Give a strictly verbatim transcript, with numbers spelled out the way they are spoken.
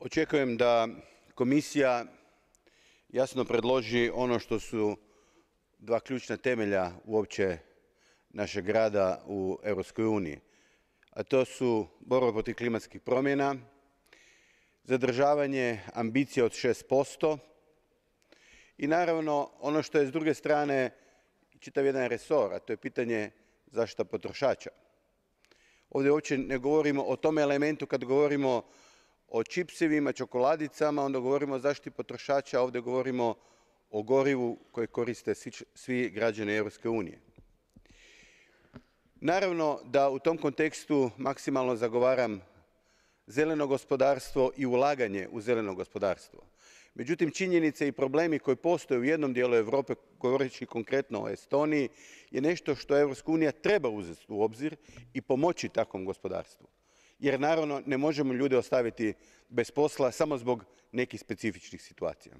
Očekujem da Komisija jasno predloži ono što su dva ključna temelja uopće našeg rada u Europskoj uniji, a to su borba protiv klimatskih promjena, zadržavanje ambicije od šest posto i naravno ono što je s druge strane čitav jedan resor, a to je pitanje zaštite potrošača. Ovdje uopće ne govorimo o tom elementu kad govorimo o čipsevima, čokoladicama, onda govorimo o zaštiti potrošača, a ovdje govorimo o gorivu koje koriste svi građani Europske unije. Naravno da u tom kontekstu maksimalno zagovaram zeleno gospodarstvo i ulaganje u zeleno gospodarstvo. Međutim, činjenice i problemi koji postoje u jednom dijelu Europe, govoreći konkretno o Estoniji, je nešto što Europska unija treba uzeti u obzir i pomoći takvom gospodarstvu. Jer naravno ne možemo ljude ostaviti bez posla samo zbog nekih specifičnih situacija.